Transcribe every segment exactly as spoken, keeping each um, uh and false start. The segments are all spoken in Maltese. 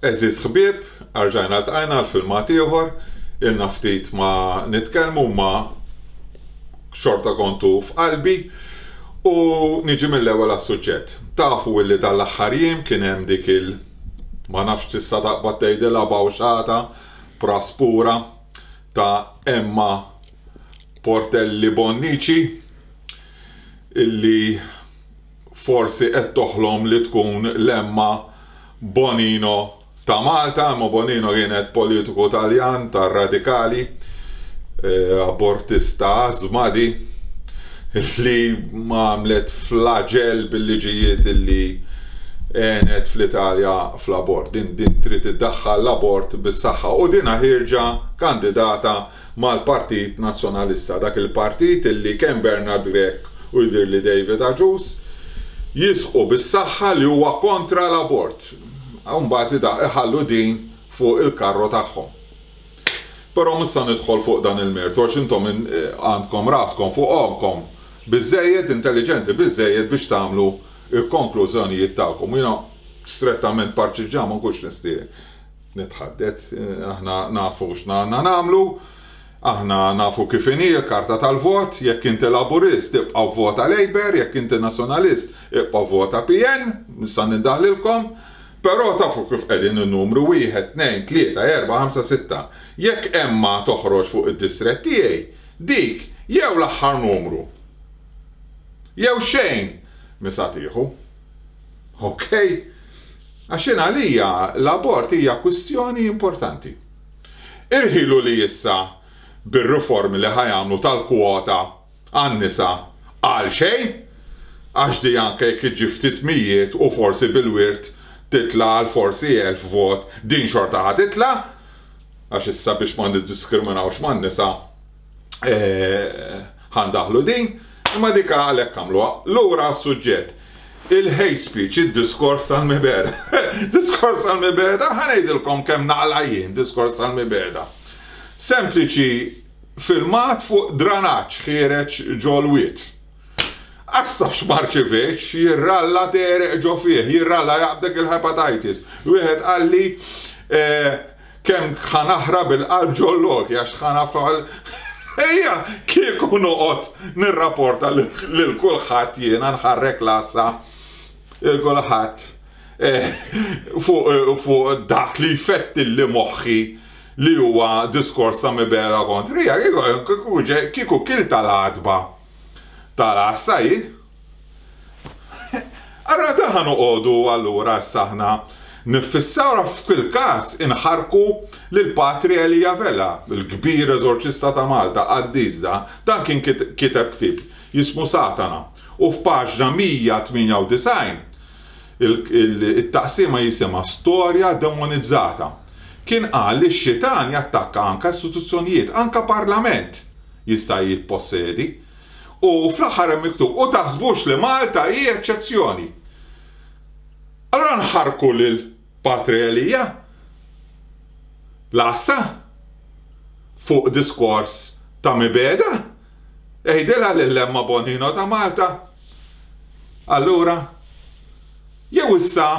Għeżież ħbieb, erġajna ltqajna għal filmat ieħor, ilna ftit ma nitkellmu ma xorta kontu f'qalbi u niġi mill-ewwel għas-suġġett. Tafu illi dal-aħħar jiem kien hemm dik il ma nafx tista' taqbad tgħidilha bawxata praspura ta' Emma Portelli Bonnici illi forsi qed toħlom li tkun l-Emma Bonino ta' Malta. Emma Bonino kienet politiku Taljan tar-radikali, abortista żmadi li ma għamlet flagell bil-liġijiet illi għenet fl-Italja fl-abort. Din din trid iddaħħal l-abort bis-saħħa u dina ħierġa kandidata mal-Partit Nazzjonalista, dak il-partit illi kemm Bernard Grech u jidhirli David Agius jisħqu bis-saħħa li huwa kontra l-abort. Mbagħad iħallu din fuq il-karro tagħhom. Però mhux se nidħol fuq dan il-mertu għax intom għandkom raskom fuq għonqkom biżżejjed intelliġenti biżżejjed biex tagħmlu il-konklużjonijiet tagħkom. Jiena strettament parċiġġan ma nkunx nistieq nitħaddet, aħna nafu x'għandna nagħmlu, aħna nafu kif inhi l-karta tal-vot, jekk inti Laburist ibqa' vvota Labour, jekk inti Nazzjonalist ibqa' vvota P N, nista' nindaħlilkom, però tafu kif qegħdin in-numru wieħed, tnejn, tlieta, erba', ħamsa, sitta. Jekk Emma toħroġ fuq id-distrett tiegħi, dik jew l-aħħar numru jew xejn misa tieħu. Ok? Għax jien għalija l-abort hija kwistjoni importanti. Irħilu li issa bir-riformi li ħajamlu tal-kwota għan-nisa għal xejn, għax di anke jekk iġi ftit mijiet u forsi bil-wirt titla għal forsi elf vot, din xorta ħa titla, għax issa biex ma niddiskriminawx man-nisa, ħandaħlu din, imma dik għalhekk għamluha. Lura għas-suġġett, il-hate speech, id-diskors tal-mibeda. Diskors tal-mibeda, ħa ngħidilkom kemm naqla jien diskors tal-mibeda. Sempliċi filmat fuq dranaġġ ħiereġ ġol-wied. Għas tafx marċivex, jirralla tereq ġo fih, jirralla jaqbdek il-hepatitis. Wieħed qalli, kemm ħanaħra bil-qalb ġollok, għax ħanafal. Ejja, kieku noqgħod nirrapporta lil kulħadd jiena nħarrek l-għassa lil kulħadd fuq dak li jfettilli moħħi li huwa diskors ta' mibegħda kontrija, kieku kil tal-għatba tal-għassa jien. Allura daħan noqogħdu allura issa aħna nifissaw f'kull każ inħarku lil Patri Elija Vella, il-kbir eżorċista ta' Malta, qaddis da, dan kien kiteb ktieb jismu Satana. U f'paġna mija tmienja u disgħin it-taqsima jisimha Storja Demonizzata. Kien qal li x-xitan jattakka anka istituzzjonijiet, anka parlament jista' jippossedi. U fl-aħħar hemm miktub, u taħsbux li Malta hi eċċezzjoni. Allora nħarku lil Patri Elija l-għassa fuq diskors ta' mibegħda, ejdilha lil Emma Bonino ta' Malta. Allura, jew issa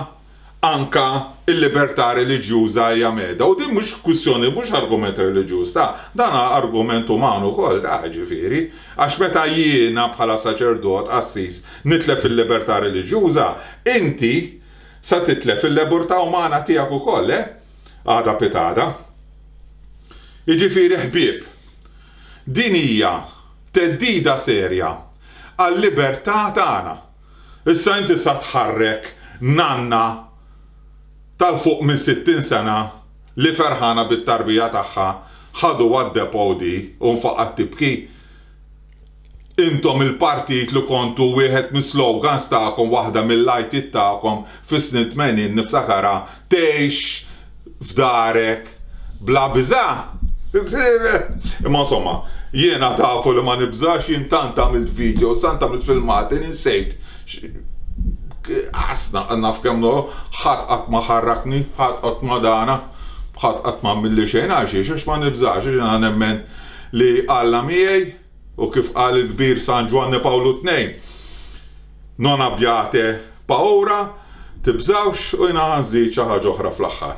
anka il-libertà reliġjuża hija meda, u din mhux kwistjoni, mhux argument reliġjuż, ta' dan argument uman ukoll, ta' ġifieri, għax meta jiena bħala saċerdot qassis nitlef il-libertà reliġjuża, inti sa titlef il-libertà umana tiegħek ukoll, eh? Għada pitada. Jiġifieri ħbieb, din hija theddida serja għal-libertà tagħna. Issa inti sa tħarrek nanna tal-fuq minn sittin sena li ferħana bit-tarbija tagħha ħadu għad-depo di u nfaqat tibki. Intom il-partit li kontu wieħed mis-slogans tagħkom, waħda mill-lajtiet tagħkom fis-snin tmenin niftakara, tgħix f'darek bla biża'. Imma insomma, jiena tafu li ma nibżax, jien tant għamilt video, tant għamilt filmati, ninsejt. Asna naf kemm no, ħadd qatt ma ħarrakni, ħadd qatt ma dana, ħadd qatt ma għamilli xejn għal xiex, għax ma nibżax, għax jiena nemmen li Alla miegħi, u kif qal il-kbir San Ġwanni Pawlu tnejn, non abbiate paura, tibżawx, u jiena ħanżid xi ħaġa oħra fl-aħħar.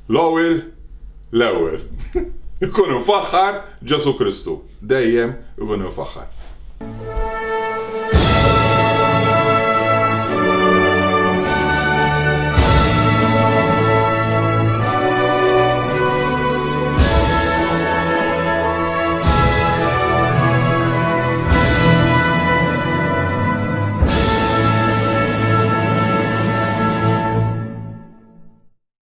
L-ewwel, l-ewwel. Ikun imfaħħar Ġesu Kristu. Dejjem ikun imfaħħar.